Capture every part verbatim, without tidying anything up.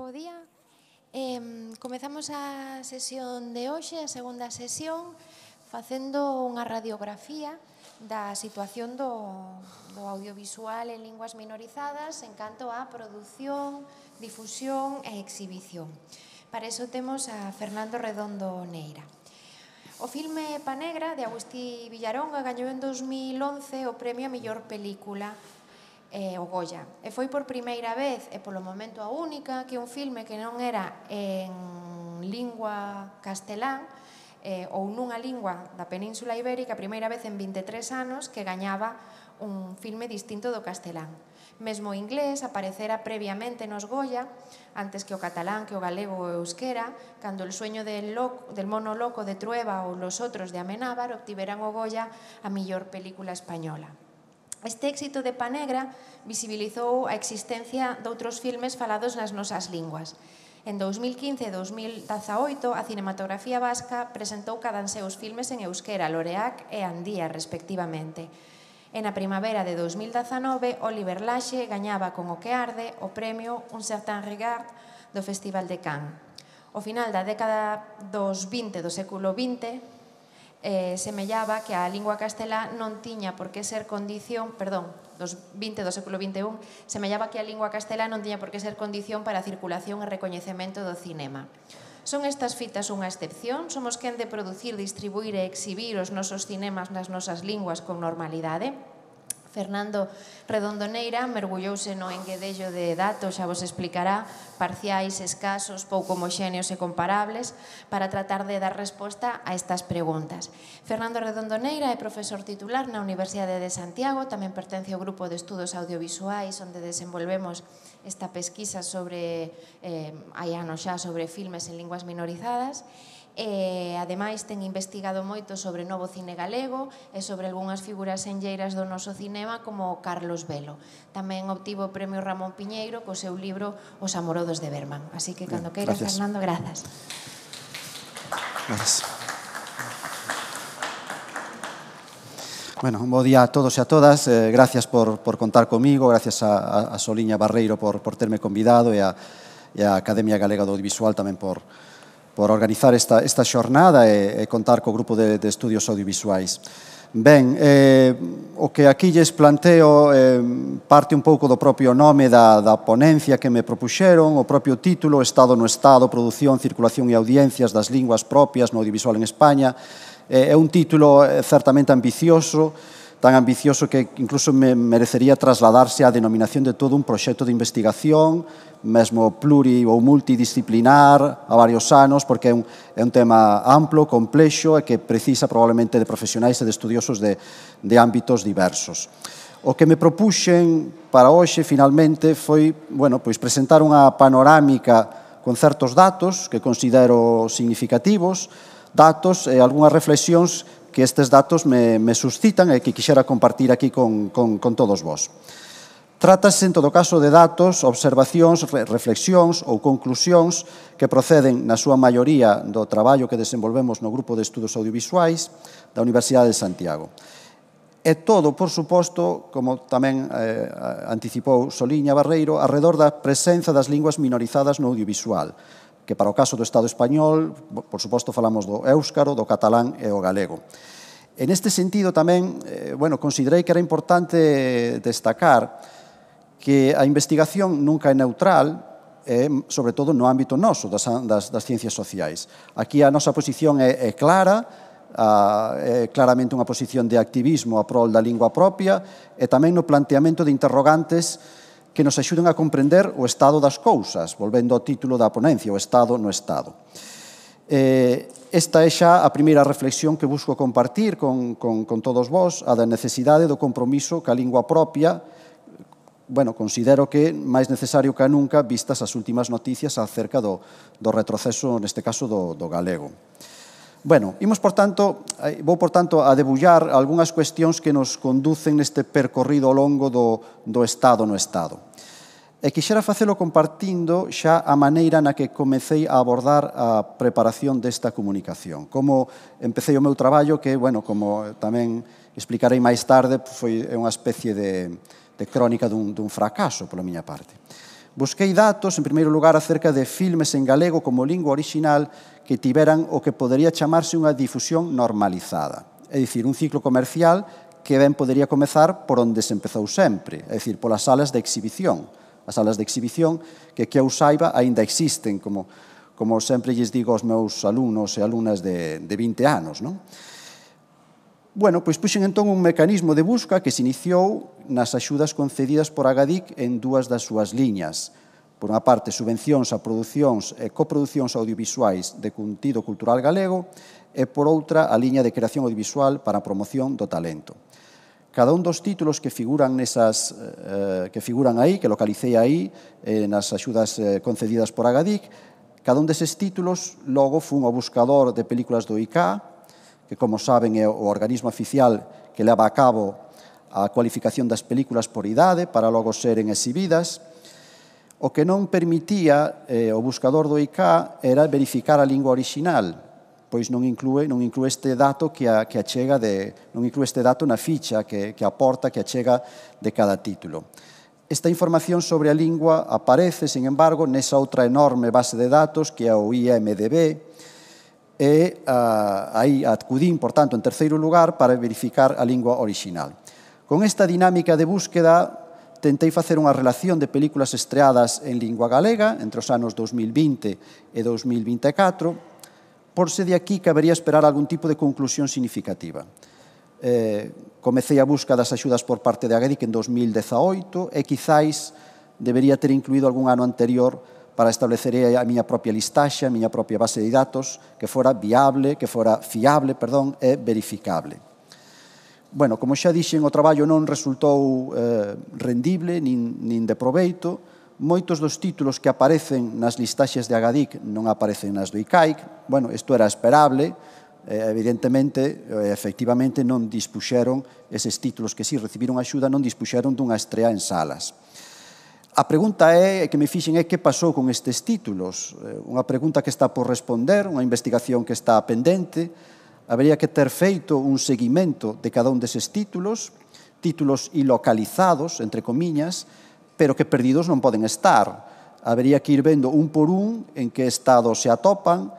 Bo día. Eh, comezamos a sesión de hoxe, a segunda sesión, facendo unha radiografía da situación do, do audiovisual en linguas minorizadas en canto á produción, difusión e exhibición. Para iso temos a Fernando Redondo Neira. O filme Panegra, de Agustí Villaronga, gañou en dos mil once o premio a mellor película, eh, o Goya. E foi por primeira vez, e polo momento a única, que un filme que non era en lingua castelán, eh, ou nunha lingua da Península Ibérica, a primeira vez en vinte e tres anos que gañaba un filme distinto do castelán. Mesmo o inglés aparecera previamente nos Goya, antes que o catalán, que o galego ou o euskera, cando El sueño del, loco, del mono loco de Trueba ou Los otros de Amenábar obtiveran o Goya a mellor película española. Este éxito de Panegra visibilizou a existencia doutros filmes falados nas nosas linguas. En dous mil quince e dous mil dezaoito, a cinematografía vasca presentou cada seus filmes en euskera, Loreac e Andía, respectivamente. E na primavera de dous mil dezanove, Oliver Laxe gañaba con O que arde o premio Un certain regard do Festival de Cannes. Ao final da década dos vinte do século vinte, eh, semellaba que a lingua castelá non tiña por que ser condición, perdón, dos vinte do século vinte e un, semellaba que a lingua castelá non tiña por que ser condición para a circulación e recoñecemento do cinema. Son estas fitas unha excepción? Somos quen de producir, distribuir e exhibir os nosos cinemas nas nosas linguas con normalidade? Fernando Redondo Neira mergullouse no enguedello de datos, xa vos explicará, parciais, escasos, pouco homoxéneos e comparables, para tratar de dar resposta a estas preguntas. Fernando Redondo Neira é profesor titular na Universidade de Santiago, tamén pertence ao grupo de estudos audiovisuais, onde desenvolvemos esta pesquisa sobre, eh, hai anos xa, sobre filmes en linguas minorizadas, e ademais ten investigado moito sobre novo cine galego e sobre algunhas figuras enlleiras do noso cinema como Carlos Velo. Tamén obtivo o premio Ramón Piñeiro co seu libro Os amorodos de Berman. Así que cando queiras, Fernando, grazas. Gracias. Bueno, un bo día a todos e a todas. Eh, gracias por, por contar comigo, gracias a, a Soliña Barreiro por, por terme convidado e a, e a Academia Galega do Audiovisual tamén por por organizar esta, esta xornada e, e contar co grupo de, de estudios audiovisuais. Ben, eh, o que aquí lles planteo eh, parte un pouco do propio nome da, da ponencia que me propuxeron, o propio título, Estado no Estado, Produción, Circulación e Audiencias das Linguas Propias no Audiovisual en España. Eh, é un título eh, certamente ambicioso, tan ambicioso que incluso me merecería trasladarse á denominación de todo un proxecto de investigación, mesmo pluri ou multidisciplinar a varios anos, porque é un, é un tema amplo, complexo e que precisa probablemente de profesionais e de estudiosos de, de ámbitos diversos. O que me propuxen para hoxe, finalmente, foi, bueno, pois presentar unha panorámica con certos datos que considero significativos, datos e algunhas reflexións que estes datos me, me suscitan e que quixera compartir aquí con, con, con todos vós. Trátase, en todo caso, de datos, observacións, reflexións ou conclusións que proceden, na súa maioría, do traballo que desenvolvemos no Grupo de Estudos Audiovisuais da Universidade de Santiago. E todo, por suposto, como tamén eh, anticipou Soliña Barreiro, arredor da presenza das linguas minorizadas no audiovisual, que para o caso do Estado español, por suposto, falamos do éuscaro, do catalán e o galego. En este sentido, tamén, eh, bueno, considerei que era importante destacar que a investigación nunca é neutral, e, sobre todo no ámbito noso, das, das, das ciencias sociais. Aquí a nosa posición é, é clara, a, é claramente unha posición de activismo a prol da lingua propia e tamén no planteamento de interrogantes que nos axuden a comprender o estado das cousas, volvendo ao título da ponencia, o Estado no Estado. Eh, esta é xa a primeira reflexión que busco compartir con, con, con todos vós, a da necesidade do compromiso ca lingua propia. Bueno, considero que máis necesario que nunca vistas as últimas noticias acerca do, do retroceso, neste caso, do, do galego. Bueno, imos, por tanto, vou, por tanto, a debullar algunhas cuestións que nos conducen neste percorrido ao longo do, do Estado no Estado. E quixera facelo compartindo xa a maneira na que comecei a abordar a preparación desta comunicación. Como empecé o meu traballo, que, bueno, como tamén explicarei máis tarde, foi unha especie de... de crónica dun, dun fracaso, pola miña parte. Busquei datos, en primeiro lugar, acerca de filmes en galego como lingua orixinal que tiveran o que podería chamarse unha difusión normalizada. É dicir, un ciclo comercial que ben podería comezar por onde se empezou sempre, é dicir, polas salas de exhibición. As salas de exhibición que, que eu saiba, aínda existen, como, como sempre lles digo aos meus alumnos e alumnas de, de vinte anos, non? Bueno, pois puxen entón un mecanismo de busca que se iniciou nas axudas concedidas por Agadic en dúas das súas liñas. Por unha parte, subvencións a producións e coproducións audiovisuais de contido cultural galego e, por outra, a liña de creación audiovisual para a promoción do talento. Cada un dos títulos que figuran nesas, eh, que figuran aí, que localicei aí, eh, nas axudas eh, concedidas por Agadic, cada un deses títulos logo fun ao buscador de películas do I C A, que, como saben, é o organismo oficial que leva a cabo a cualificación das películas por idade para logo seren exhibidas. O que non permitía eh, o buscador do I C A era verificar a lingua orixinal, pois non inclúe, non inclúe este dato que, a, que achega de, non inclúe este dato na ficha que, que aporta, que achega de cada título. Esta información sobre a lingua aparece, sin embargo, nesa outra enorme base de datos que é o I M D B, e uh, aí acudín, por tanto, en terceiro lugar para verificar a lingua orixinal. Con esta dinámica de búsqueda, tentei facer unha relación de películas estreadas en lingua galega entre os anos dos mil vinte e dos mil vinte e catro, por se de aquí cabería esperar algún tipo de conclusión significativa. Eh, comecei a busca das axudas por parte de Agadic en dos mil dezaoito e quizáis debería ter incluído algún ano anterior para establecer a miña propia listaxe, a miña propia base de datos, que fora viable, que fora fiable, perdón, e verificable. Bueno, como xa dixen, o traballo non resultou eh, rendible, nin, nin de proveito. Moitos dos títulos que aparecen nas listaxes de Agadic non aparecen nas do I C A I C. Bueno, isto era esperable. Eh, evidentemente, eh, efectivamente, non dispuxeron eses títulos que si recibiron axuda, non dispuxeron dunha estrea en salas. A pregunta é, que me fixen é que pasou con estes títulos. Unha pregunta que está por responder, unha investigación que está pendente. Habería que ter feito un seguimento de cada un deses títulos, títulos ilocalizados, entre comiñas, pero que perdidos non poden estar. Habería que ir vendo un por un en que estado se atopan,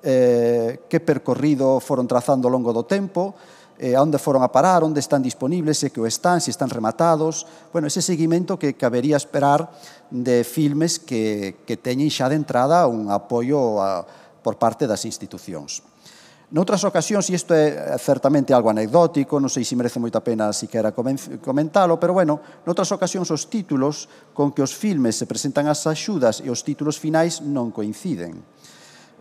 eh, que percorrido foron trazando ao longo do tempo, eh, a onde foron a parar, onde están disponibles, se que o están, se están rematados. Bueno, ese seguimento que cabería esperar de filmes que, que teñen xa de entrada un apoio a, por parte das institucións. Noutras ocasións, e isto é certamente algo anecdótico, non sei se merece moita pena siquera comentalo, pero bueno, noutras ocasións os títulos con que os filmes se presentan as axudas e os títulos finais non coinciden.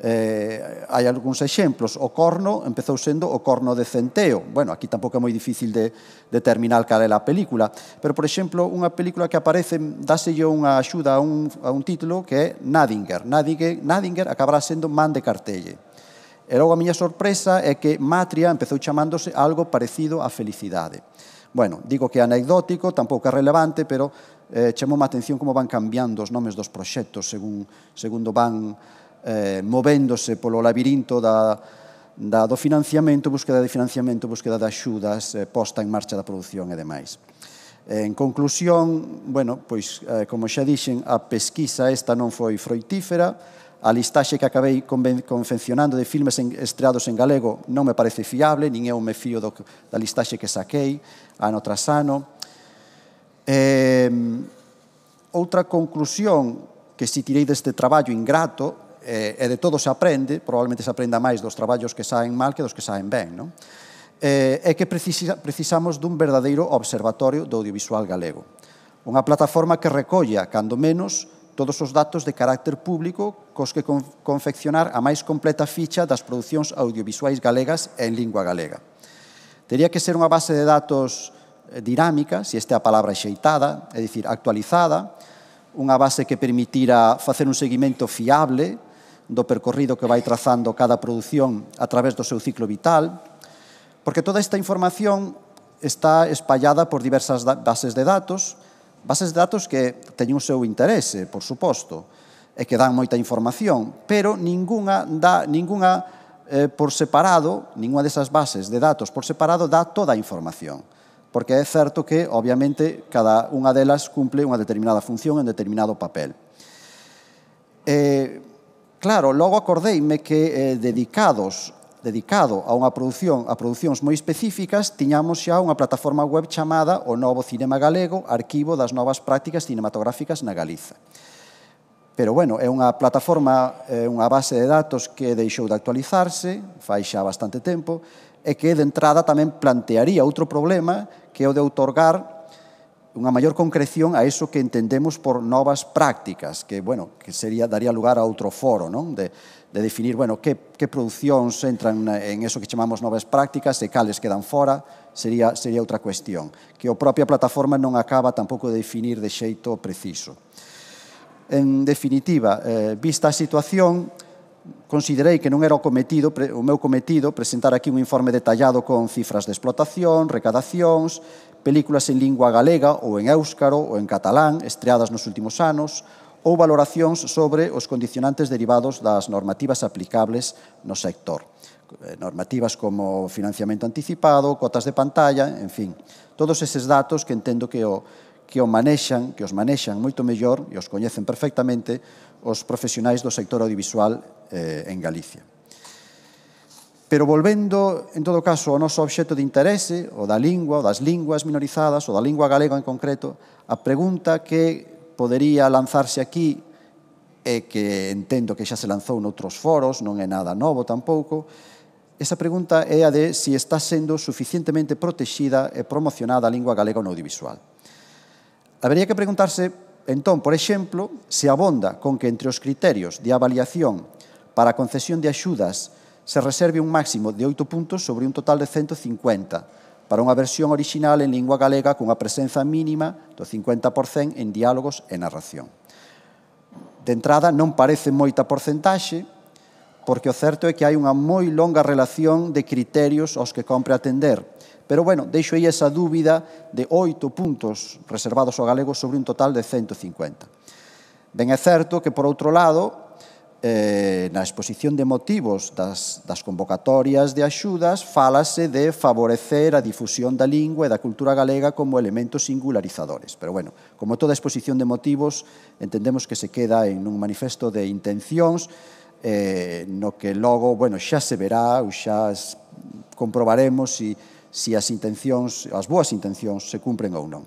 Eh, hai algúns exemplos. O Corno empezou sendo O Corno de Centeo. Bueno, aquí tampouco é moi difícil de determinar cal é a película, pero, por exemplo, unha película que aparece, dáselle unha axuda a un, a un título que é Nadinger. Nadinger, Nadinger acabará sendo Man de Cartelle. E logo a miña sorpresa é que Matria empezou chamándose algo parecido a Felicidade. Bueno, digo que é anecdótico, tampouco é relevante, pero eh, chamoume a atención como van cambiando os nomes dos proxectos según, segundo van eh, movéndose polo labirinto da, da, do financiamento, búsqueda de financiamento, búsqueda de axudas, eh, posta en marcha da produción e demais. Eh, en conclusión, bueno, pois, eh, como xa dixen, a pesquisa esta non foi froitífera. A listaxe que acabei confeccionando de filmes estreados en galego non me parece fiable, nin eu me fío do, da listaxe que saquei ano tras ano. Eh, outra conclusión que si tirei deste traballo ingrato, eh, e de todo se aprende, probablemente se aprenda máis dos traballos que saen mal que dos que saen ben, non? Eh, é que precisa, precisamos dun verdadeiro observatorio do audiovisual galego. Unha plataforma que recolla, cando menos, todos os datos de carácter público cos que confeccionar a máis completa ficha das producións audiovisuais galegas en lingua galega. Tería que ser unha base de datos dinámica, se esta é a palabra xeitada, é dicir, actualizada, unha base que permitira facer un seguimento fiable do percorrido que vai trazando cada produción a través do seu ciclo vital, porque toda esta información está espallada por diversas bases de datos, bases de datos que teñen o seu interese, por suposto, e que dan moita información, pero ningunha dá, ningunha eh, por separado, ningunha desas bases de datos por separado dá toda a información. porque é certo que, obviamente, cada unha delas cumple unha determinada función en determinado papel. Eh, claro, logo acordeime que eh, dedicados dedicado a unha produción, a producións moi específicas, tiñamos xa unha plataforma web chamada o Novo Cinema Galego, arquivo das novas prácticas cinematográficas na Galiza. Pero, bueno, é unha plataforma, é unha base de datos que deixou de actualizarse, fai xa bastante tempo, e que, de entrada, tamén plantearía outro problema, que é o de outorgar unha maior concreción a eso que entendemos por novas prácticas, que, bueno, que sería, daría lugar a outro foro, non? De, de definir, bueno, que, que producións entran en eso que chamamos novas prácticas e cales quedan fora, sería, sería outra cuestión, que a propia plataforma non acaba tampouco de definir de xeito preciso. En definitiva, eh, vista a situación, considerei que non era o cometido, o meu cometido presentar aquí un informe detallado con cifras de explotación, recadacións, películas en lingua galega ou en éuscaro ou en catalán estreadas nos últimos anos, ou valoracións sobre os condicionantes derivados das normativas aplicables no sector. Normativas como financiamento anticipado, cotas de pantalla, en fin, todos eses datos que entendo que o, que o manexan, que os manexan moito mellor e os coñecen perfectamente os profesionais do sector audiovisual eh, en Galicia. Pero volvendo, en todo caso, ao noso obxecto de interese, o da lingua, o das linguas minorizadas, o da lingua galega en concreto, a pregunta que podería lanzarse aquí, e que entendo que xa se lanzou noutros foros, non é nada novo tampouco, esa pregunta é a de se está sendo suficientemente protexida e promocionada a lingua galega no audiovisual. Habería que preguntarse, entón, por exemplo, se abonda con que entre os criterios de avaliación para a concesión de axudas se reserve un máximo de oito puntos sobre un total de ciento cincuenta, para unha versión orixinal en lingua galega cunha presenza mínima do cincuenta por cento en diálogos e narración. De entrada, non parece moita porcentaxe, porque o certo é que hai unha moi longa relación de criterios aos que compre atender. Pero, bueno, deixo aí esa dúbida de oito puntos reservados ao galego sobre un total de ciento cincuenta. Ben é certo que, por outro lado, Eh, na exposición de motivos das, das convocatorias de axudas fálase de favorecer a difusión da lingua e da cultura galega como elementos singularizadores. Pero, bueno, como toda exposición de motivos, entendemos que se queda en un manifesto de intencións eh, no que logo, bueno, xa se verá ou xa comprobaremos si, si as intencións, as boas intencións se cumpren ou non.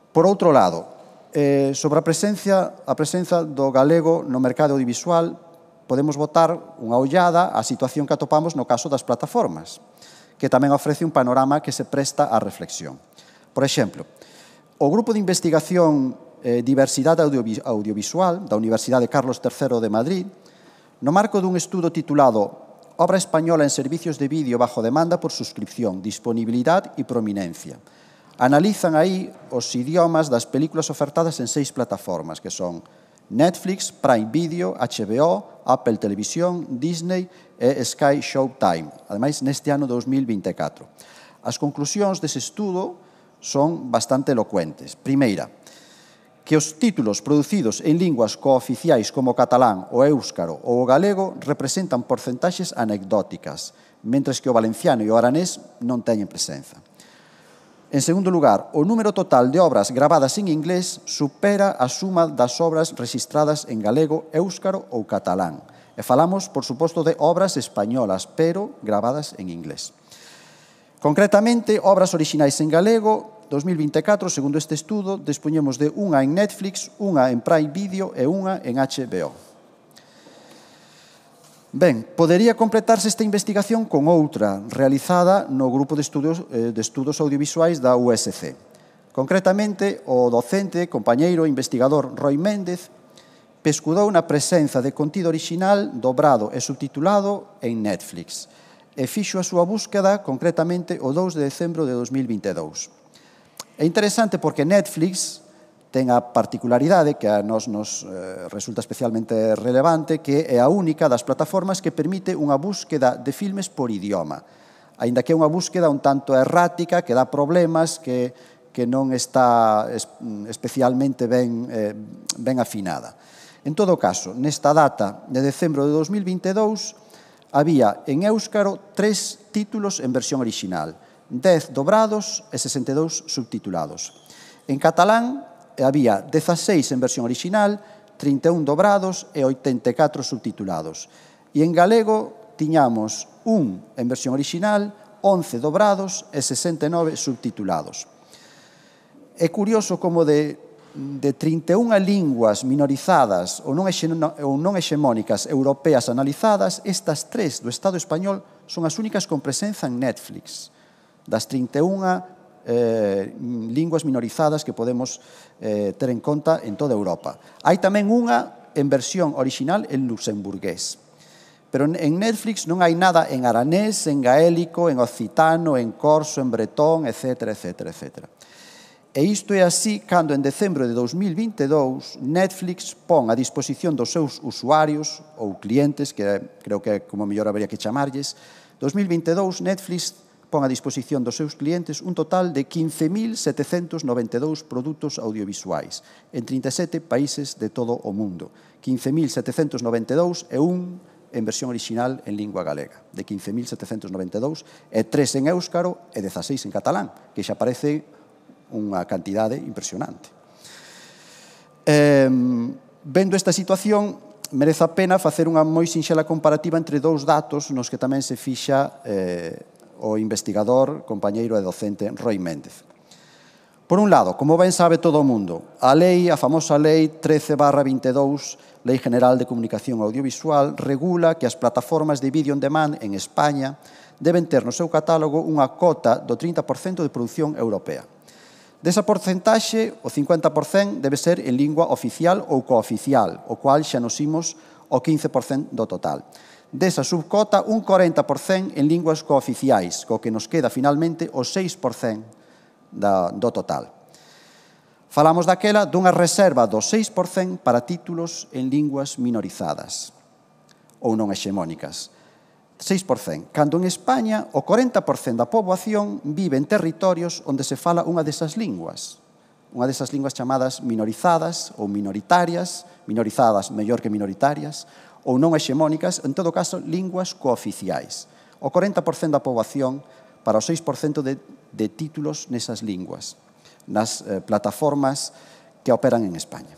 Por outro lado, Eh, sobre a presencia, a presenza do galego no mercado audiovisual, podemos botar unha ollada á situación que atopamos no caso das plataformas, que tamén ofrece un panorama que se presta á reflexión. Por exemplo, o Grupo de Investigación eh, Diversidade Audiovi- Audiovisual da Universidade Carlos terceiro de Madrid, no marco dun estudo titulado Obra española en servicios de vídeo bajo demanda por suscripción, disponibilidad y prominencia, analizan aí os idiomas das películas ofertadas en seis plataformas, que son Netflix, Prime Video, H B O, Apple Televisión, Disney e Sky Showtime, ademais neste ano dos mil vinte e catro. As conclusións dese estudo son bastante elocuentes. Primeira, que os títulos producidos en linguas cooficiais como o catalán, o éuscaro ou o galego representan porcentaxes anecdóticas, mentres que o valenciano e o aranés non teñen presenza. En segundo lugar, o número total de obras gravadas en inglés supera a suma das obras registradas en galego, éuscaro ou catalán. E falamos, por suposto, de obras españolas, pero gravadas en inglés. Concretamente, obras orixinais en galego, dos mil vinte e catro, segundo este estudo, dispoñemos de unha en Netflix, unha en Prime Video e unha en H B O. Ben, podería completarse esta investigación con outra realizada no Grupo de Estudos, eh, de Estudos Audiovisuais da U S C. Concretamente, o docente, compañeiro e investigador Roy Méndez pescudou na presenza de contido orixinal dobrado e subtitulado en Netflix e fixo a súa búsqueda concretamente o dous de decembro de dos mil vinte e dous. É interesante porque Netflix ten a particularidade que a nos, nos eh, resulta especialmente relevante, que é a única das plataformas que permite unha búsqueda de filmes por idioma, aínda que é unha búsqueda un tanto errática, que dá problemas, que, que non está es, especialmente ben, eh, ben afinada. En todo caso, nesta data de decembro de dos mil vinte e dous, había en éuscaro tres títulos en versión orixinal, dez dobrados e sesenta e dous subtitulados. En catalán había dezaseis en versión original, trinta e un dobrados e oitenta e catro subtitulados. E en galego tiñamos un en versión original, once dobrados e sesenta e nove subtitulados. É curioso como de, de trinta e unha linguas minorizadas ou non, ou non hexemónicas europeas analizadas, estas tres do Estado español son as únicas con presenza en Netflix, das trinta e unha eh, linguas minorizadas que podemos eh, ter en conta en toda Europa. Hai tamén unha en versión original en luxemburgués. Pero en Netflix non hai nada en aranés, en gaélico, en occitano, en corso, en bretón, etcétera, etcétera, etcétera. E isto é así cando en decembro de dous mil vinte e dous Netflix pon a disposición dos seus usuarios ou clientes, que creo que é como mellor habería que chamarlles, dous mil vinte e dous Netflix pon a disposición dos seus clientes un total de quince mil setecentos noventa e dous produtos audiovisuais en trinta e sete países de todo o mundo. quince mil setecentos noventa e dous e un en versión original en lingua galega, de quince mil setecentos noventa e dous, e tres en éuscaro e dezaseis en catalán, que xa parece unha cantidade impresionante. Eh, vendo esta situación, merece a pena facer unha moi sinxela comparativa entre dous datos nos que tamén se fixa eh, o investigador, compañeiro e docente Roi Méndez. Por un lado, como ben sabe todo o mundo, a lei, a famosa lei trece barra vinte e dous, Lei General de Comunicación Audiovisual, regula que as plataformas de vídeo on demand en España deben ter no seu catálogo unha cota do trinta por cento de produción europea. Desa porcentaxe, o cincuenta por cento debe ser en lingua oficial ou cooficial, o cual xa nos imos o quince por cento do total. Desa subcota, un corenta por cento en linguas cooficiais, co que nos queda finalmente o seis por cento do total. Falamos daquela dunha reserva do seis por cento para títulos en linguas minorizadas ou non hexemónicas. seis por cento. Cando en España o corenta por cento da poboación vive en territorios onde se fala unha desas linguas. Unha desas linguas chamadas minorizadas ou minoritarias, minorizadas mellor que minoritarias, ou non hexemónicas, en todo caso, linguas cooficiais. O corenta por cento da poboación para o seis por cento de, de títulos nesas linguas, nas eh, plataformas que operan en España.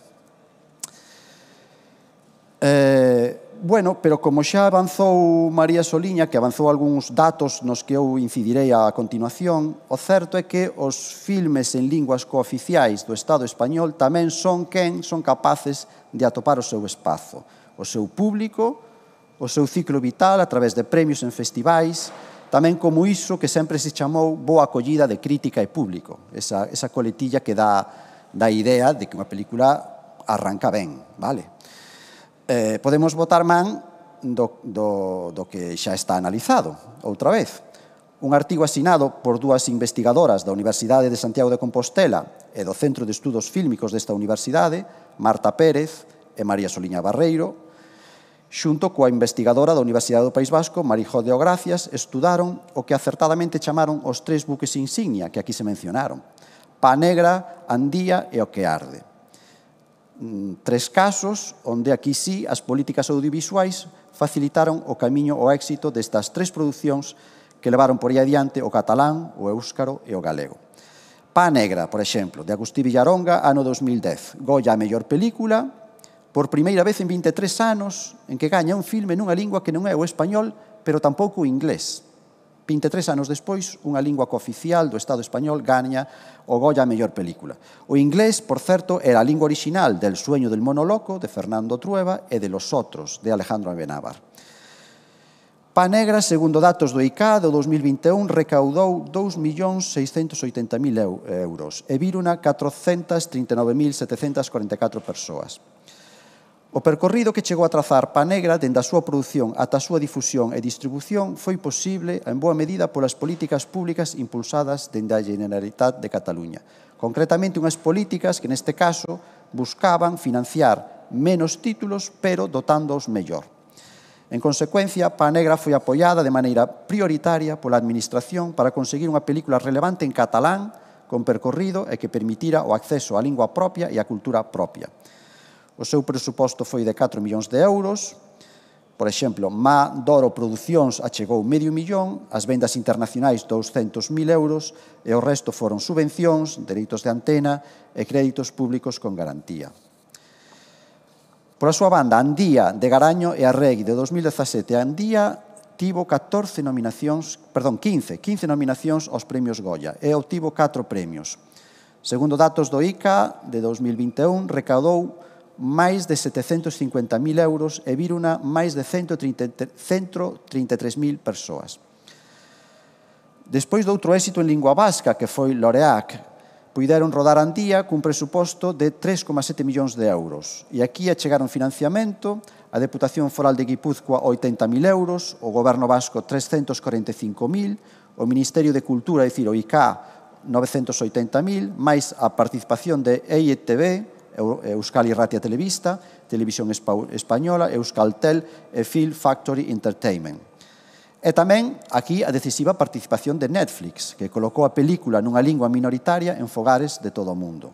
Eh, bueno, pero como xa avanzou María Soliña, que avanzou algúns datos nos que eu incidirei a continuación, o certo é que os filmes en linguas cooficiais do Estado español tamén son quen son capaces de atopar o seu espazo, o seu público, o seu ciclo vital a través de premios en festivais, tamén como iso que sempre se chamou boa acollida de crítica e público, esa, esa coletilla que dá, dá idea de que unha película arranca ben, vale? Eh, podemos botar man do, do, do que xa está analizado, outra vez. Un artigo asinado por dúas investigadoras da Universidade de Santiago de Compostela e do Centro de Estudos Fílmicos desta universidade, Marta Pérez e María Soliña Barreiro, xunto coa investigadora da Universidade do País Vasco, Marijó de Ogracias, estudaron o que acertadamente chamaron os tres buques insignia que aquí se mencionaron: Pá Negra, Andía e O que arde. Tres casos onde aquí sí as políticas audiovisuais facilitaron o camiño ao éxito destas tres producións que levaron por aí adiante o catalán, o éuscaro e o galego. Pá Negra, por exemplo, de Agustí Villaronga, ano dos mil dez. Goya a mellor película, por primeira vez en vinte e tres anos, en que gaña un filme nunha lingua que non é o español, pero tampouco o inglés. vinte e tres anos despois, unha lingua cooficial do Estado español gaña o Goya a mellor película. O inglés, por certo, era a lingua original del Sueño del mono loco, de Fernando Trueba, e de Los otros, de Alejandro Amenábar. Pá Negra, segundo datos do I C A do dos mil vinte e un, recaudou dous millóns seiscentos oitenta mil euros e viruna catrocentas trinta e nove mil setecentas cuarenta e catro persoas. O percorrido que chegou a trazar Pá Negra dende a súa produción ata a súa difusión e distribución foi posible en boa medida polas políticas públicas impulsadas dende a Generalitat de Cataluña. Concretamente, unhas políticas que, neste caso, buscaban financiar menos títulos, pero dotándoos mellor. En consecuencia, Pá Negra foi apoiada de maneira prioritaria pola Administración para conseguir unha película relevante en catalán, con percorrido e que permitira o acceso á lingua propia e á cultura propia. O seu presuposto foi de catro millóns de euros, Por exemplo, Ma Doro Producións achegou medio millón, as vendas internacionais douscentos mil euros e o resto foron subvencións, dereitos de antena e créditos públicos con garantía. Por a súa banda, Andía de Garaño e Arregui de dos mil dezasete, Andía tivo catorce nominacións, perdón, quince, quince nominacións aos premios Goya e obtivo catro premios. Segundo datos do I C A de dos mil vinte e un, recaudou máis de setecentos cincuenta mil euros e viruna máis de cento trinta e tres mil persoas. Despois do outro éxito en lingua vasca, que foi Loreac, puideron rodar Andía cun presuposto de tres coma sete millóns de euros. E aquí achegaron financiamento, a Deputación Foral de Guipúzcoa oitenta mil euros, o Goberno Vasco trescentos corenta e cinco mil, o Ministerio de Cultura, é dicir, o I C A, novecentos oitenta mil, máis a participación de E I T V, Euskal Irratia Telebista, Televisión Española, Euskaltel e Film Factory Entertainment. E tamén, aquí, a decisiva participación de Netflix, que colocou a película nunha lingua minoritaria en fogares de todo o mundo.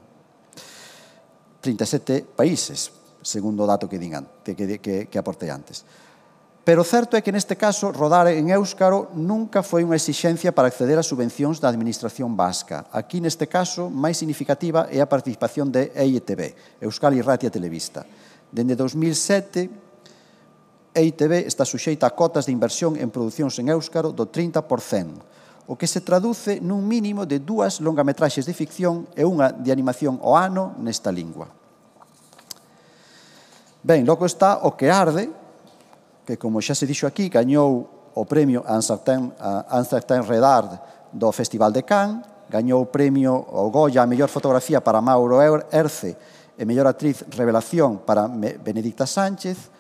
trinta e sete países, segundo o dato que, digan, que, que, que aportei antes. Pero o certo é que neste caso rodar en éuscaro nunca foi unha exixencia para acceder a subvencións da administración vasca. Aquí neste caso máis significativa é a participación de E I T V, Euskal Irratia Telebista. Dende dos mil sete, E I T V está suxeita a cotas de inversión en producións en éuscaro do trinta por cento, o que se traduce nun mínimo de dúas longametraxes de ficción e unha de animación ao ano nesta lingua. Ben, logo está O que arde, que, como xa se dixo aquí, gañou o premio Un certain Redard do Festival de Cannes, gañou o premio o Goya a mellor fotografía para Mauro Erce e mellor actriz revelación para Benedicta Sánchez,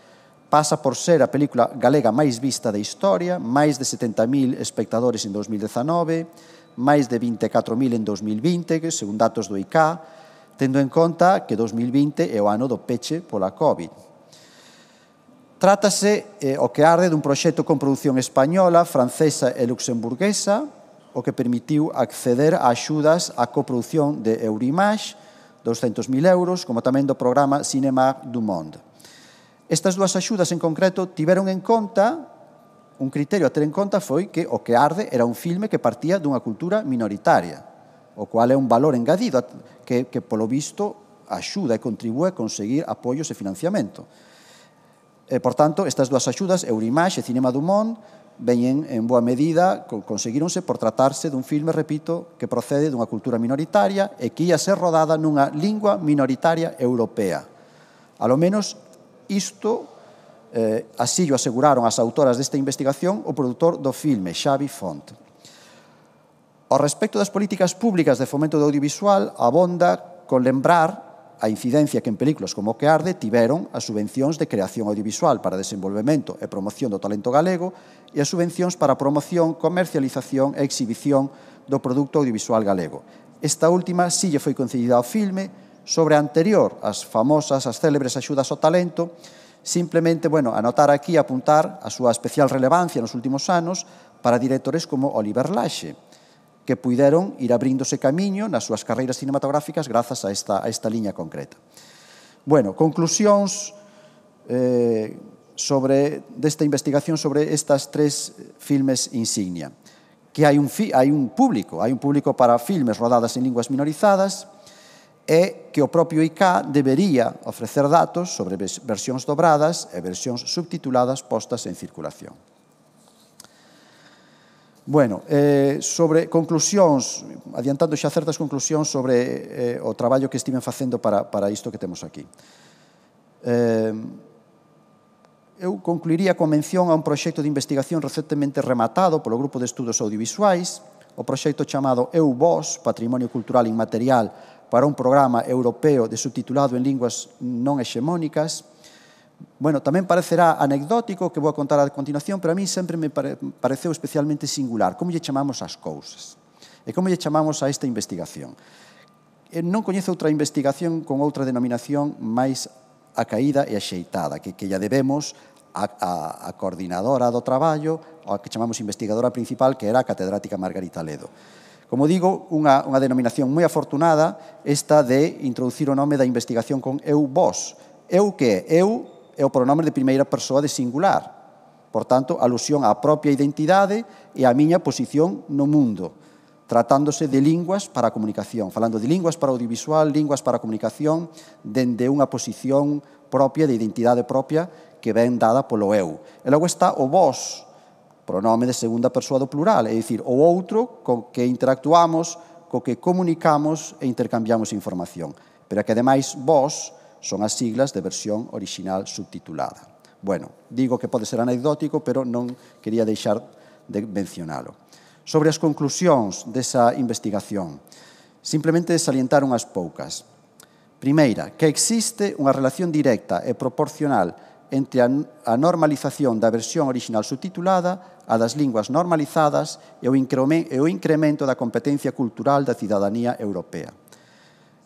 pasa por ser a película galega máis vista da historia, máis de setenta mil espectadores en dos mil dezanove, máis de vinte e catro mil en dos mil vinte, que según datos do I C A, tendo en conta que dos mil vinte é o ano do peche pola COVID. Trátase, eh, o que arde, dun proxecto con produción española, francesa e luxemburguesa, o que permitiu acceder a axudas á coproducción de Eurimage, douscentos mil euros, como tamén do programa Cinema du Monde. Estas dúas axudas en concreto tiveron en conta, un criterio a ter en conta foi que O que arde era un filme que partía dunha cultura minoritaria, o cual é un valor engadido que, que polo visto, axuda e contribúe a conseguir apoios e financiamento. E, por tanto, estas dúas axudas, Eurimage e Cinema du Monde, veñen en boa medida, conseguíronse por tratarse dun filme, repito, que procede dunha cultura minoritaria e que ia ser rodada nunha lingua minoritaria europea. A lo menos isto, eh, así o aseguraron as autoras desta investigación o produtor do filme, Xavi Font. Ao respecto das políticas públicas de fomento do audiovisual, abonda con lembrar a incidencia que en películas como O que arde tiveron as subvencións de creación audiovisual para desenvolvemento e promoción do talento galego e as subvencións para promoción, comercialización e exhibición do produto audiovisual galego. Esta última sí lle foi concedida ao filme, sobre a anterior, as famosas, as célebres axudas ao talento, simplemente, bueno, anotar aquí, apuntar a súa especial relevancia nos últimos anos para directores como Oliver Laxe, que puideron ir abríndose camiño nas súas carreiras cinematográficas grazas a esta, a esta liña concreta. Bueno, conclusións eh, sobre desta investigación sobre estas tres filmes insignia. Que hai un, fi, hai un público, hai un público para filmes rodadas en linguas minorizadas e que o propio I C A debería ofrecer datos sobre versións dobradas e versións subtituladas postas en circulación. Bueno, eh, sobre conclusións, adiantando xa certas conclusións sobre eh, o traballo que estiven facendo para, para isto que temos aquí. Eh, eu concluiría con mención a un proxecto de investigación recentemente rematado polo Grupo de Estudos Audiovisuais, o proxecto chamado Eu Vos, Patrimonio Cultural Inmaterial para un programa europeo de subtitulado en linguas non hexemónicas. Bueno, tamén parecerá anecdótico que vou a contar a continuación, pero a mí sempre me pare, pareceu especialmente singular como lle chamamos as cousas e como lle chamamos a esta investigación. E non coñezo outra investigación con outra denominación máis acaída e axeitada, que, que lla debemos a, a, a coordinadora do traballo, ou a que chamamos investigadora principal, que era a catedrática Margarita Ledo. Como digo, unha, unha denominación moi afortunada esta de introducir o nome da investigación con Eu Vos. Eu que é? Eu é o pronome de primeira persoa de singular. Por tanto, alusión á propia identidade e á miña posición no mundo, tratándose de linguas para a comunicación, falando de linguas para o audiovisual, linguas para a comunicación, dende unha posición propia, de identidade propia, que ven dada polo eu. E logo está o vos, pronome de segunda persoa do plural, é dicir, o outro co que interactuamos, co que comunicamos e intercambiamos información. Pero que, ademais, vos son as siglas de versión orixinal subtitulada. Bueno, digo que pode ser anecdótico, pero non quería deixar de mencionalo. Sobre as conclusións desa investigación, simplemente salientar unhas poucas. Primeira, que existe unha relación directa e proporcional entre a normalización da versión orixinal subtitulada, a das linguas normalizadas e o incremento da competencia cultural da cidadanía europea.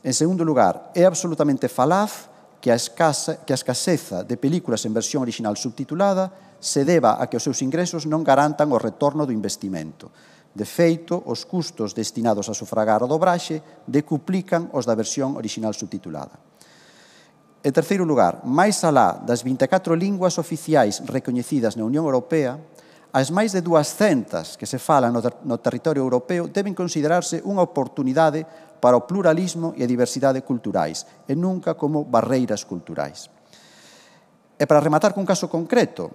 En segundo lugar, é absolutamente falaz que a, escasa, que a escaseza de películas en versión orixinal subtitulada se deba a que os seus ingresos non garantan o retorno do investimento. De feito, os custos destinados a sufragar a dobraxe decuplican os da versión orixinal subtitulada. En terceiro lugar, máis alá das vinte e catro linguas oficiais recoñecidas na Unión Europea, as máis de duascentas que se falan no, ter no territorio europeo deben considerarse unha oportunidade para o pluralismo e a diversidade culturais, e nunca como barreiras culturais. E para rematar cun caso concreto,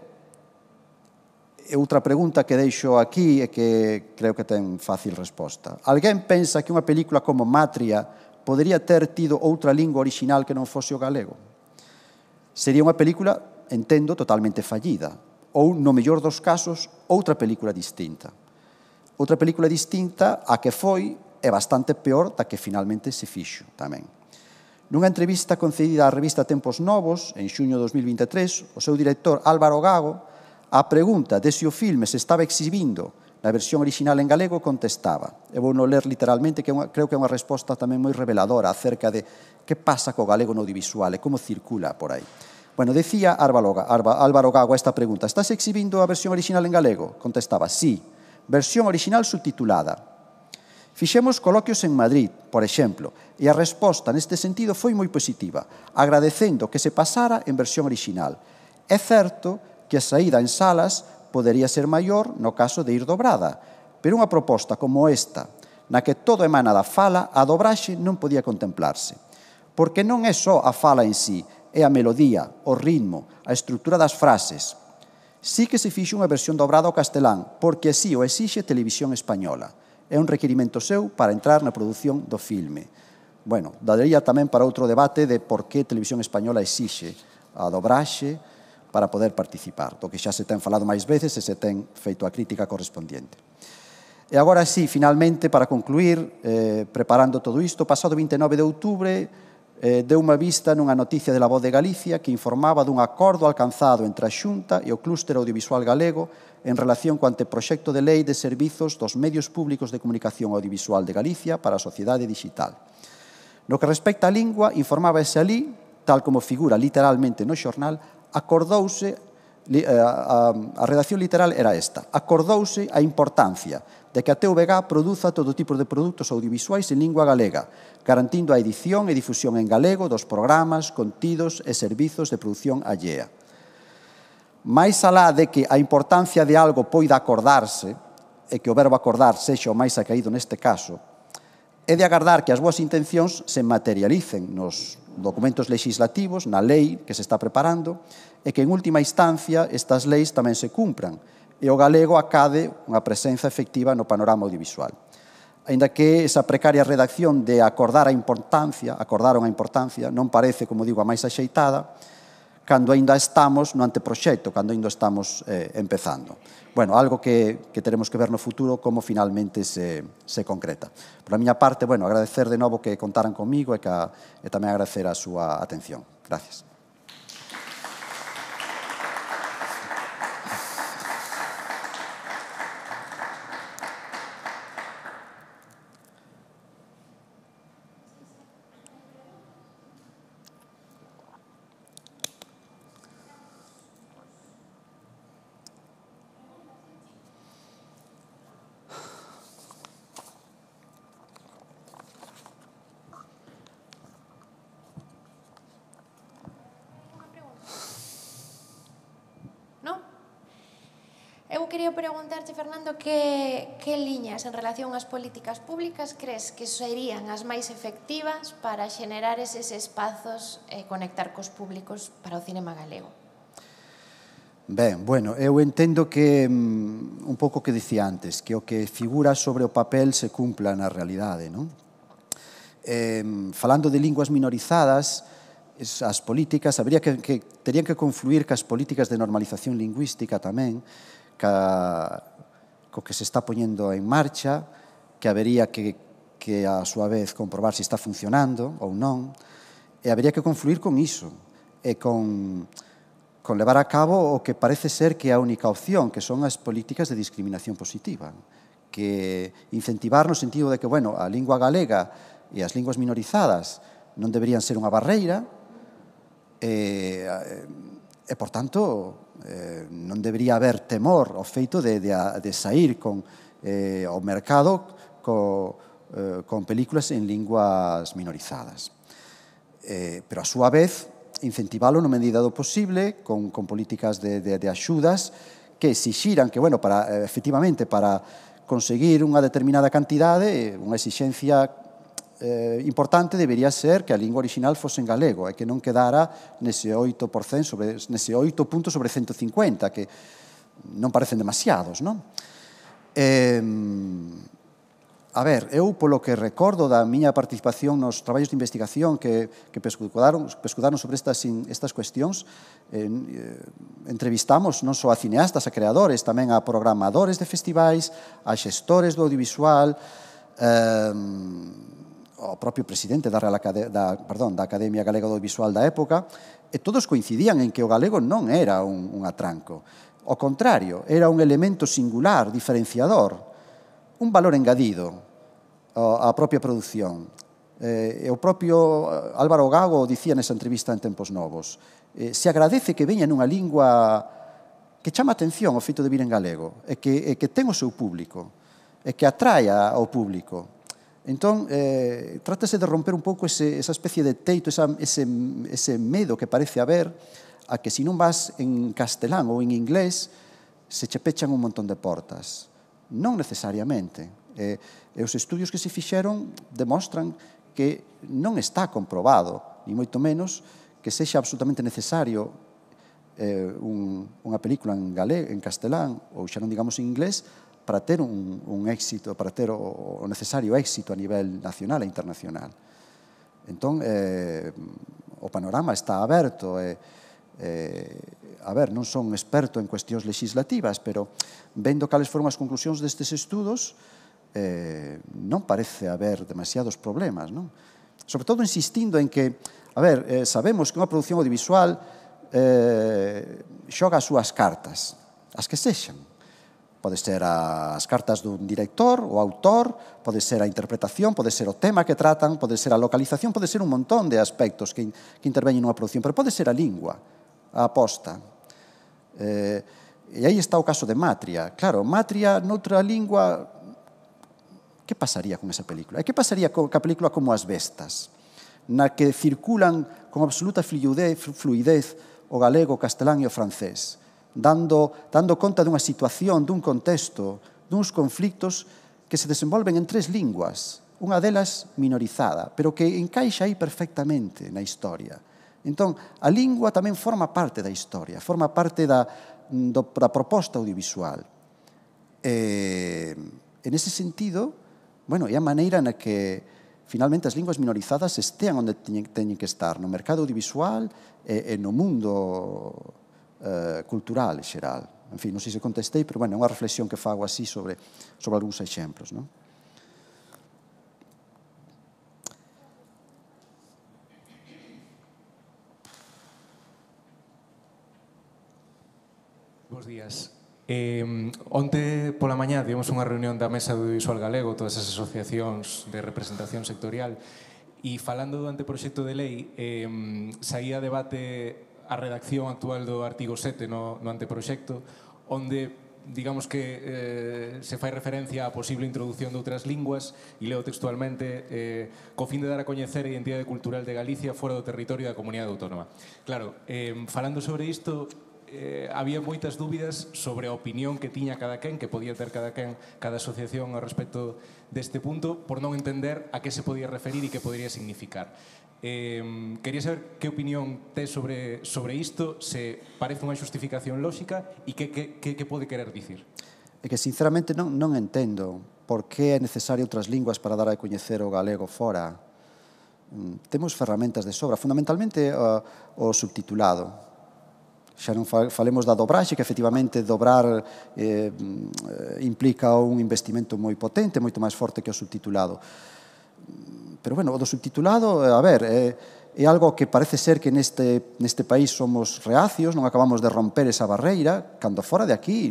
outra pregunta que deixo aquí e que creo que ten fácil resposta. Alguén pensa que unha película como Matria podería ter tido outra lingua orixinal que non fose o galego? Sería unha película, entendo, totalmente fallida, ou, no mellor dos casos, outra película distinta. Outra película distinta a que foi é bastante peor da que finalmente se fixo tamén. Nunha entrevista concedida á revista Tempos Novos, en xuño de dos mil vinte e tres, o seu director Álvaro Gago, á pregunta de se o filme se estaba exhibindo na versión orixinal en galego, contestaba, e vou non ler literalmente, que creo que é unha resposta tamén moi reveladora acerca de que pasa co galego no audiovisual e como circula por aí. Bueno, decía Álvaro Gago a esta pregunta, estás exhibindo a versión orixinal en galego? Contestaba, sí, versión orixinal subtitulada. Fixemos coloquios en Madrid, por exemplo, e a resposta neste sentido foi moi positiva, agradecendo que se pasara en versión orixinal. É certo que a saída en salas podería ser maior no caso de ir dobrada, pero unha proposta como esta, na que todo emana da fala, a dobraxe non podía contemplarse. Porque non é só a fala en sí, é a melodía, o ritmo, a estrutura das frases. Sí que se fixo unha versión dobrada ao castelán, porque así o exixe Televisión Española. É un requirimento seu para entrar na produción do filme. Bueno, daría tamén para outro debate de por que Televisión Española exixe a dobraxe para poder participar, do que xa se ten falado máis veces e se ten feito a crítica correspondiente. E agora sí, finalmente, para concluir, eh, preparando todo isto, pasado vinte e nove de outubro, eh, deu unha vista nunha noticia de La Voz de Galicia que informaba dun acordo alcanzado entre a Xunta e o Clúster Audiovisual Galego en relación co anteproxecto de lei de servizos dos medios públicos de comunicación audiovisual de Galicia para a sociedade digital. No que respecta á lingua, informábase alí, tal como figura literalmente no xornal, acordouse, a, a, a redacción literal era esta, acordouse a importancia de que a T V G produza todo tipo de produtos audiovisuais en lingua galega, garantindo a edición e difusión en galego dos programas, contidos e servizos de produción allea. máis alá de que a importancia de algo poida acordarse, e que o verbo acordar sexa o máis acaído neste caso, é de agardar que as boas intencións se materialicen nos documentos legislativos, na lei que se está preparando, e que en última instancia estas leis tamén se cumpran, e o galego acade unha presenza efectiva no panorama audiovisual. Aínda que esa precaria redacción de acordar a importancia, acordaron a importancia, non parece, como digo, a máis axeitada, cando ainda estamos no anteproxecto, cando ainda estamos eh, empezando. Bueno, algo que, que teremos que ver no futuro como finalmente se, se concreta. Por a miña parte, bueno, agradecer de novo que contaran comigo e, que, e tamén agradecer a súa atención. Gracias. eu quería preguntarche, Fernando, que, que liñas en relación ás políticas públicas crees que serían as máis efectivas para xenerar eses espazos e conectar cos públicos para o cinema galego? Ben, bueno, eu entendo que um, un pouco que dicía antes, que o que figura sobre o papel se cumpla na realidade, non? Eh, falando de linguas minorizadas, as políticas, habría que, que terían que confluir cas políticas de normalización lingüística tamén, ca, co que se está poñendo en marcha, que habería que, que a súa vez comprobar se está funcionando ou non, e habería que confluir con iso, e con... con levar a cabo o que parece ser que é a única opción, que son as políticas de discriminación positiva, que incentivar no sentido de que, bueno, a lingua galega e as linguas minorizadas non deberían ser unha barreira e, e por tanto, eh, non debería haber temor ao feito de, de, de sair con, eh, ao mercado co, eh, con películas en linguas minorizadas. Eh, pero, a súa vez, incentivalo na medida do posible con, con políticas de, de, de axudas que exixiran que, bueno, para, efectivamente, para conseguir unha determinada cantidade, unha exixencia eh, importante debería ser que a lingua original fose en galego e que non quedara nese oito por cento sobre, nese oito puntos sobre ciento cincuenta, que non parecen demasiados, non? Eh, A ver, eu, polo que recordo da miña participación nos traballos de investigación que, que pescudaron, pescudaron sobre estas, estas cuestións, eh, entrevistamos non só a cineastas, a creadores, tamén a programadores de festivais, a xestores do audiovisual, eh, o propio presidente da, Real Acade da, perdón, da Academia Galega do Audiovisual da época, e todos coincidían en que o galego non era un, un atranco. Ao contrario, era un elemento singular, diferenciador, un valor engadido á propia produción. Eh, o propio Álvaro Gago dicía nesa entrevista en Tempos Novos. Eh, se agradece que veña nunha lingua que chama atención o feito de vir en galego, e que, e que ten o seu público, e que atraia ao público. Entón, eh, trátase de romper un pouco ese, esa especie de teito, esa, ese, ese medo que parece haber a que se non vas en castelán ou en inglés, se che pechan un montón de portas. Non necesariamente. E, e os estudios que se fixeron demostran que non está comprobado, ni moito menos, que sexa absolutamente necesario eh, un, unha película en galego, en castelán, ou xa non digamos en inglés, para ter un, un éxito, para ter o, o necesario éxito a nivel nacional e internacional. Entón, eh, o panorama está aberto e, eh, a ver, non son experto en cuestións legislativas, pero vendo cales foron as conclusións destes estudos, eh, non parece haber demasiados problemas, non? Sobre todo insistindo en que, a ver, eh, sabemos que unha produción audiovisual eh, xoga as súas cartas, as que sexan. Pode ser as cartas dun director, o autor, pode ser a interpretación, pode ser o tema que tratan, pode ser a localización, pode ser un montón de aspectos que, que interveñen nunha produción, pero pode ser a lingua, a aposta. Eh, e aí está o caso de Matria. Claro, Matria noutra lingua, que pasaría con esa película? E que pasaría con a película como As Bestas, na que circulan con absoluta fluidez, fluidez o galego, o castelán e o francés, dando, dando conta dunha situación, dun contexto, duns conflictos que se desenvolven en tres linguas, unha delas minorizada, pero que encaixa aí perfectamente na historia. Entón, a lingua tamén forma parte da historia, forma parte da, do, da proposta audiovisual. E, en ese sentido, bueno, é a maneira na que finalmente as linguas minorizadas estean onde teñen, teñen que estar, no mercado audiovisual e, e no mundo eh, cultural en xeral. En fin, non sei se contestei, pero bueno, é unha reflexión que fago así sobre, sobre algúns exemplos, non? Bos días. Eh, onte pola mañá tivemos unha reunión da Mesa do Audiovisual Galego, todas as asociacións de representación sectorial, e falando do anteproxecto de lei, eh, saía a debate a redacción actual do artigo sete no, no anteproxecto, onde digamos que eh, se fai referencia á posible introducción de outras linguas, e leo textualmente, eh, co fin de dar a coñecer a identidade cultural de Galicia fora do territorio da comunidade autónoma. Claro, eh, falando sobre isto, eh, había moitas dúbidas sobre a opinión que tiña cada quen, que podía ter cada quen, cada asociación ao respecto deste punto, por non entender a que se podía referir e que podría significar. Eh, quería saber que opinión tes sobre, sobre isto, se parece unha xustificación lóxica e que, que, que, que pode querer dicir. É que sinceramente non, non entendo por que é necesario outras linguas para dar a coñecer o galego fora. Temos ferramentas de sobra, fundamentalmente uh, o subtitulado. Xa non falemos da dobraxe, que efectivamente dobrar eh, implica un investimento moi potente, moito máis forte que o subtitulado. Pero, bueno, o do subtitulado, a ver, é, é algo que parece ser que neste, neste país somos reacios, non acabamos de romper esa barreira, cando fora de aquí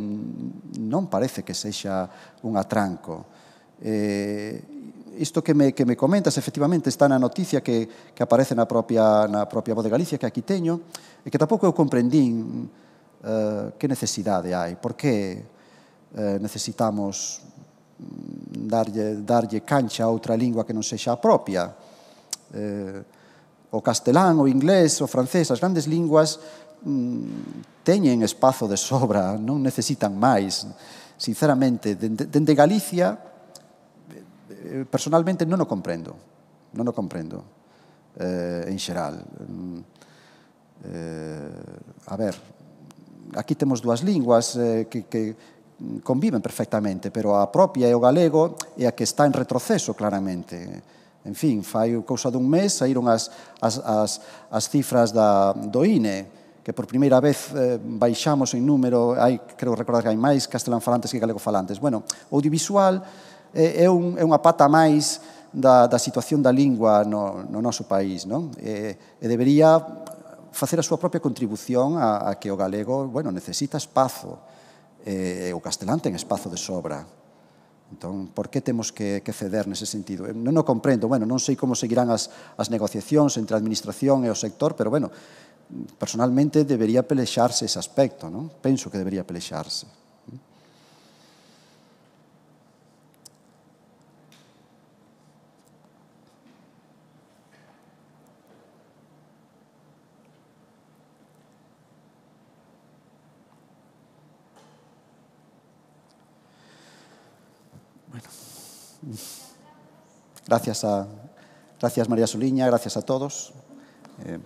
non parece que sexa un atranco. Eh, isto que me, que me comentas, efectivamente, está na noticia que, que aparece na propia, na propia Voz de Galicia, que aquí teño, e que tampouco eu comprendín uh, que necesidade hai, por que uh, necesitamos darlle, darlle cancha a outra lingua que non sexa a propia. Uh, o castelán, o inglés, o francés, as grandes linguas um, teñen espazo de sobra, non necesitan máis. Sinceramente, dende, dende Galicia, personalmente non o comprendo, non o comprendo, eh, en xeral. Eh, a ver, aquí temos dúas linguas eh, que, que conviven perfectamente, pero a propia é o galego e a que está en retroceso claramente. En fin, fai cousa dun mes saíron as, as, as, as cifras da, do I N E, que por primeira vez eh, baixamos en número, hai, creo recordar que hai máis castelán falantes que galego falantes. Bueno, o audiovisual é, un, é unha pata máis da, da situación da lingua no, no noso país, non? E, e debería facer a súa propia contribución a, a que o galego, bueno, necesita espazo, e, e o castelán ten espazo de sobra. Entón, por que temos que, que ceder nese sentido? Non o comprendo, bueno, non sei como seguirán as, as negociacións entre a administración e o sector, pero, bueno, personalmente debería pelexarse ese aspecto, non? Penso que debería pelexarse. Bueno, gracias a, gracias María Soliña, gracias a todos. Eh,